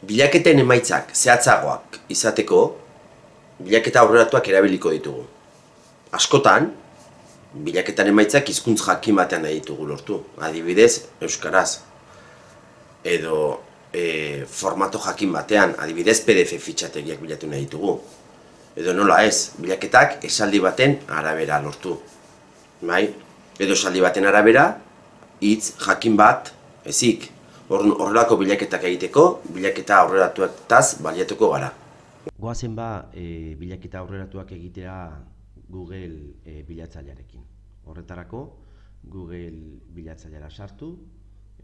Bilaketen emaitzak zehatzagoak izateko, bilaketa aurreratuak erabiliko ditugu. Askotan, bilaketan emaitzak hizkuntz jakin batean nahi ditugu lortu. Adibidez, euskaraz. Edo formato jakin batean, adibidez PDF fitxategiak bilatu nahi ditugu. Edo nola ez, bilaketak esaldi baten arabera lortu. Bai? Edo esaldi baten arabera, hitz jakin bat ezik. Horrelako bilaketak egiteko, bilaketa aurreratuetaz baliatuko gara. Goazen bilaketa aurreratuak egitea Google bilatzailearekin. Horretarako, Google bilatzaileara sartu,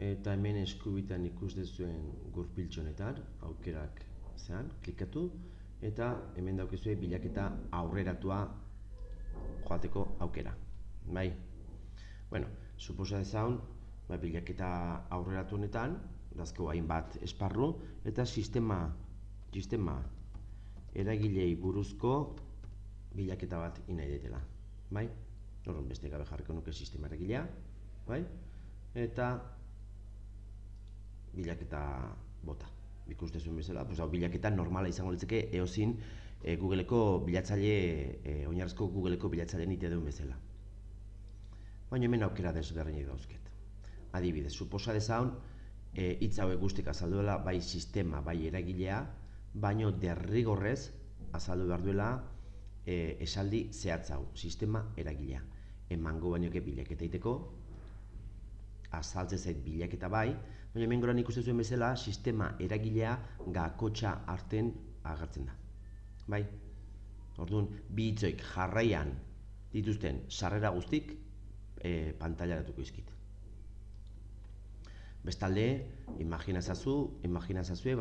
eta hemen eskubitan ikus dezuen gurpiltxonetan, aukerak zean, klikatu, eta hemen daukezue bilaketa aurreratua joateko aukera. Bai? Bueno, suposa dezaun, bilaketa aurreratu honetan, dazko hainbat esparru, eta sistema eragilei buruzko bilaketa bat nahi detela. Bai? Horren beste gabe jarriko nuke sistema eragilea, bai? Eta bilaketa bota. Ikuste zuen bezala, bilaketa normala izango litzeke eozin Googleko bilatzaile, oinarrizko Googleko bilatzaile nite duen bezala. Baina hemen aukera desberdinak dauzket. Adibidez, suposa dezaun, hitz hauek guztik azaldu dela, bai sistema, bai eragilea, baino derrigorrez azaldu behar duela esaldi zehatz hau, sistema eragilea. Emango bainoke bilaketa egiteko, azaltzen zait bilaketa bai, baina hemen goran ikusten zuen bezala, sistema eragilea gakotxa arten agertzen da. Bai? Orduan, bi hitzoik jarraian dituzten sarrera guztik pantailaratuko izkit. Bestalde, imaginazazue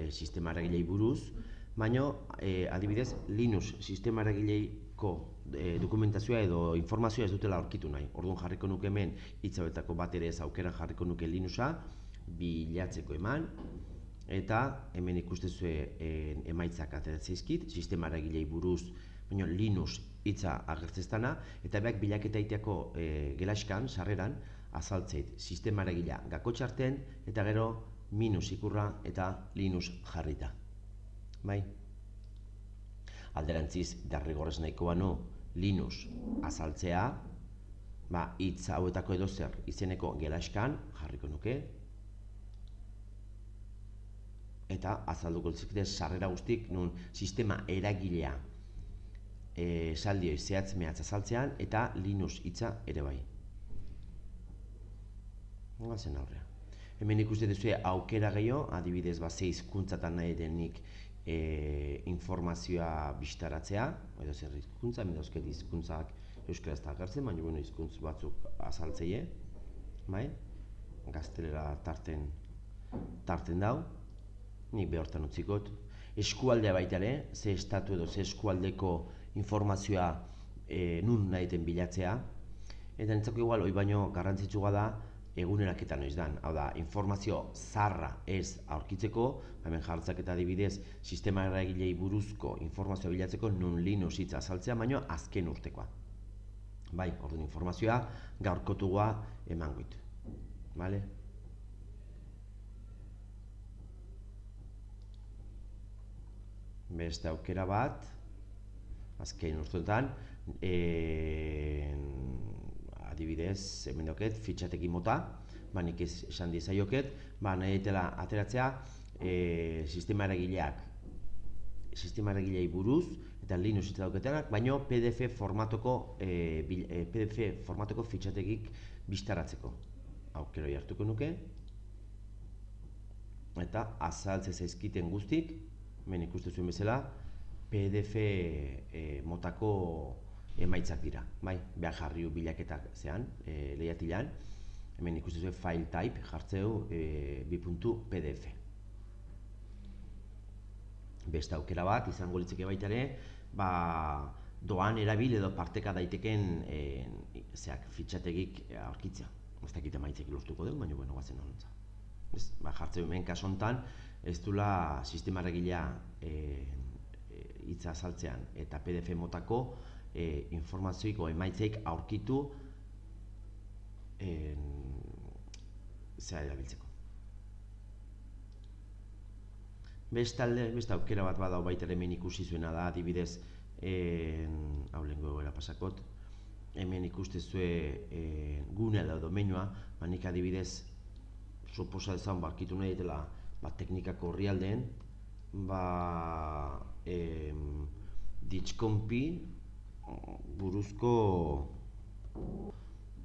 sistema eragilei buruz, baina adibidez Linux sistema eragileiko dokumentazioa edo informazioa ez dutela aurkitu nahi. Orduan jarriko nuke hemen hitz hauetako bat ere ez aukeran jarriko nuke Linuxa bilatzeko eman, eta hemen ikustezue emaitzak ateratzen zaizkit, sistema eragilei buruz, baina Linux hitza agertzeztana, eta beak bilaketa egiteako gelaskan, sarreran, azaltzeit sistema eragilea gakotxarten, eta gero minus ikurra eta Linux jarrita. Bai? Alderantziz, derrigorrez nahiko banu Linux azaltzea, hitz hauetako edozer izeneko gelaskan jarriko nuke, eta azalduko litzakete sarrera guztik nun sistema eragilea esaldioi zehatz mehatz azaltzean, eta Linux hitza ere bai. Gazen aurrea. Hemen ikusten duzue aukera gehiago, adibidez ze hizkuntzatan nahi denik informazioa bistaratzea, edo zer hizkuntza, hemen dauzket hizkuntzak euskaraz eta agertzen, baina hizkuntz batzuk azaltzeie, bai? Gaztelera tarten dau, nik behortan utzikot. Eskualdea baita ere, ze estatu edo ze eskualdeko informazioa nun nahi den bilatzea, eta nintzako igual, hoi baino garrantzitsua da, eguneraketa noiz dan, hau da, informazio zarra ez aurkitzeko, hemen jartzak eta adibidez, sistema eragilei buruzko informazioa bilatzeko nun Linux hitza azaltzea, baino azken urtekoa. Bai, orduan informazioa gaurkotua emangoit. Bale? Beste aukera bat, azken urteetan, adibidez, hemen dauket, fitxategi mota, nik esan dizaioket, nahi ditela ateratzea sistema eragilei buruz, eta Linux hitza dauketenak, baino PDF formatoko fitxategik bistaratzeko. Aukeroi hartuko nuke, eta azaltze zaizkiten guztik, hemen ikusten zuen bezala, PDF motako emaitzak dira, bai, behar jarriu bilaketak zean, lehiatilan, hemen ikusten zuen file type jartzeu .pdf. Beste aukera bat, izango litzeke baita ere, doan erabil edo parteka daiteken fitxategik aurkitzea. Ez dakit emaitzek lortuko dugu, baina guazen honontza. Jartzeu hemen kasontan, ez dula sistema eragilea hitza azaltzean eta PDF motako informazioiko emaitzeik aurkitu zera erabiltzeko. Bestalde, beste aukera bat badau baita hemen ikusi zuena da, adibidez, hau lehengo egoera pasakot, hemen ikustezue gune edo domeinua, nik adibidez, suposa dezan barkitu nahi ditela teknikako orrialdeen, Ditxkonpi buruzko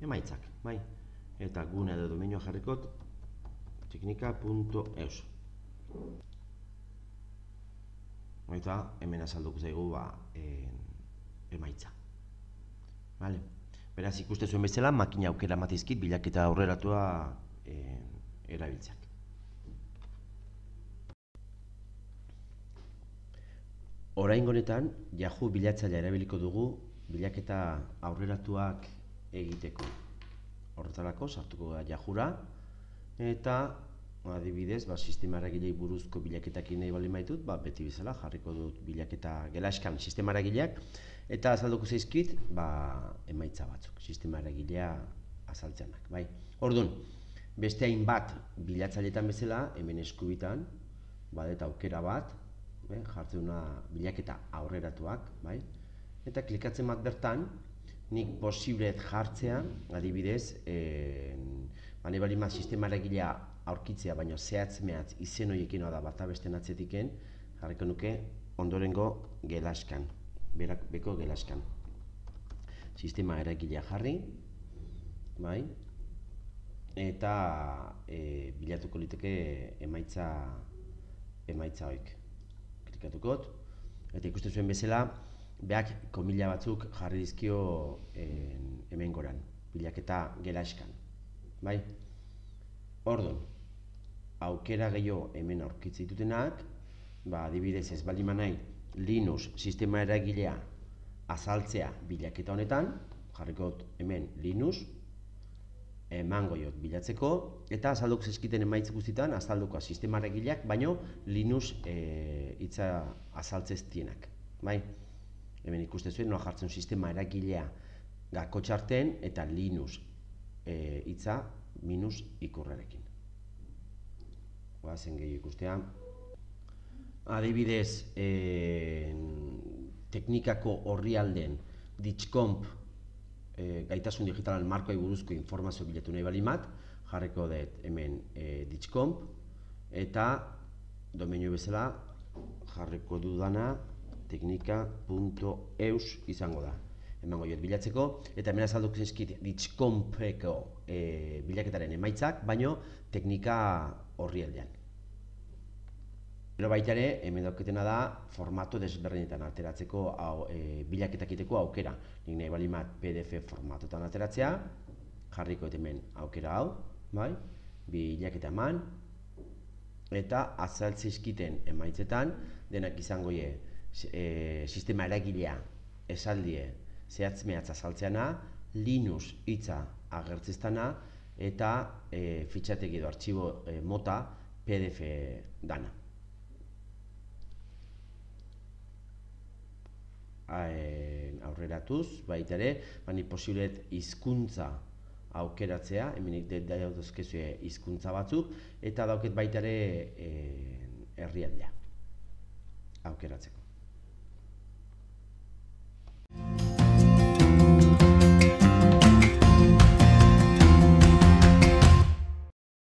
emaitzak, bai? Eta gune edo domeinua jarrikot teknika.eus. Eta hemen azalduko zaigu emaitza. Beraz, ikuste zuen bezala, makina aukera matizkit bilaketa aurreratua erabiltzeak. Oraingo honetan, Yahoo bilatzailea erabiliko dugu bilaketa aurreratuak egiteko. Horretarako sartuko da Yahoora eta adibidez, sistema eragilei buruzko bilaketak nahi baldin baitut, beti bezala jarriko dut bilaketa gelaskan sistema eragileak eta azalduko zaizkit emaitza batzuk, sistema eragilea azaltzeanak, bai. Orduan, beste hainbat bilatzailetan bezala, hemen eskubitan, eta aukera bat, jartzen duna bilaketa aurreratuak, bai? Eta klikatzen bat bertan, nik posiblet jartzea, adibidez, nahi baldin bat sistema eragilea aurkitzea, baina zehatz-mehatz izen horiekin da bata besten atzetiken, jarriko nuke ondorengo gelaskan, beko gelaskan. Sistema eragilea jarri, bai? Eta bilatuko liteke emaitza hoik. Klikatukot, eta ikusten zuen bezala, beak komila batzuk jarri dizkio hemen goran, bilaketa gelaskan, bai? Orduan, aukera gehiago hemen aurkitze ditutenak, adibidez ez baldin nahi Linux sistema eragilea azaltzea bilaketa honetan, jarrikot hemen Linux, emango jot bilatzeko, eta azalduko zezkiten emaitz guztietan azalduko sistema eragileak, baino Linux hitza azaltzeztienak, bai? Hemen ikusten zuen, noa jartzen sistema eragilea gako txarten eta Linux hitza minus ikurrarekin. Zen gehiago ikustea. Adibidez, teknikako orrialden Ditxkonp gaitasun digitalan markoai buruzko informazio bilatu nahi baldin bat, jarriko dut hemen Ditxkonp, eta domeinu bezala jarriko dudana teknika.eus izango da. Emango jot bilatzeko, eta hemen azalduko zaizkit Ditxkonpeko bilaketaren emaitzak, baino teknika orrialdean. Gero baita ere, hemen dauketena da formato desberdinetan alteratzeko bilaketak egiteko aukera. Nik nahi baldin bat PDF formatotan alteratzea, jarriko hemen aukera hau, bai? Bilaketa eman, eta azaltzeizkiten emaitzetan, denak izango sistema eragilea esaldie zehatz-mehatz azaltzeana, Linux hitza agertzeztana, eta fitxategi edo artxibo mota PDF dana. Aurreratuz, baita ere, ni posiblet hizkuntza aukeratzea, hemen dauzkezue hizkuntza batzuk, eta dauket baita ere herrialdea aukeratzeko.